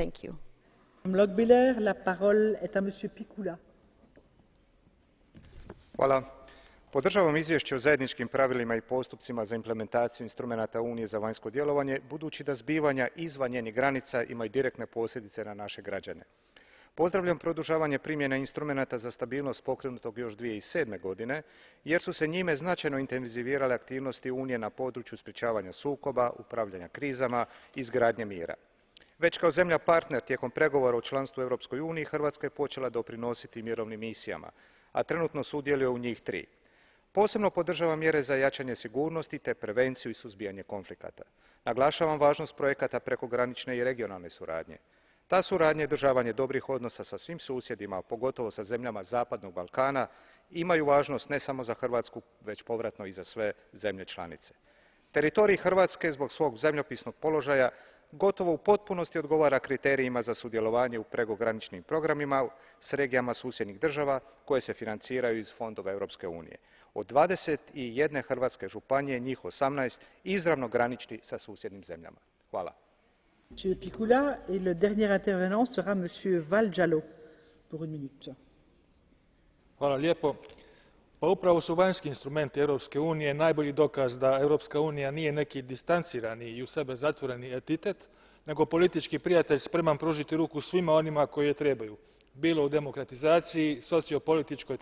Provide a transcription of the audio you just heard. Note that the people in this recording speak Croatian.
Thank you. Madame Lochbihler, la parole est à Monsieur Piccula. Hvala. Podržavam izvješće o zajedničkim pravilima i postupcima za implementaciju instrumenata Unije za vanjsko djelovanje, budući da zbivanja izvan njenih granica imaju direktne posljedice na naše građane. Pozdravljam produžavanje primjene instrumenata za stabilnost pokrenutog još 2007. godine, jer su se njime značajno intenzivirale aktivnosti Unije na području sprječavanja sukoba, upravljanja krizama i izgradnje mira. Već kao zemlja partner tijekom pregovora o članstvu u Europskoj uniji, Hrvatska je počela doprinositi mirovnim misijama, a trenutno sudjeluje u njih 3. Posebno podržavam mjere za jačanje sigurnosti te prevenciju i suzbijanje konflikata. Naglašavam važnost projekata prekogranične i regionalne suradnje. Ta suradnja i održavanje dobrih odnosa sa svim susjedima, pogotovo sa zemljama Zapadnog Balkana, imaju važnost ne samo za Hrvatsku, već povratno i za sve zemlje članice. Teritorij Hrvatske zbog svog zemljopisnog položaja gotovo u potpunosti odgovara kriterijima za sudjelovanje u prekograničnim programima s regijama susjednih država koje se financiraju iz fondova Europske unije. Od 21 hrvatske županije, njih 18 izravno graniči sa susjednim zemljama. Hvala. Monsieur Piccula, et le dernier intervenant sera Monsieur Valjallo, pour une minute. Hvala lijepo. Pa upravo su vanjski instrumenti Europske unije najbolji dokaz da Europska unija nije neki distancirani i u sebe zatvoreni entitet, nego politički prijatelj spreman pružiti ruku svima onima koji je trebaju, bilo u demokratizaciji, sociopolitičkoj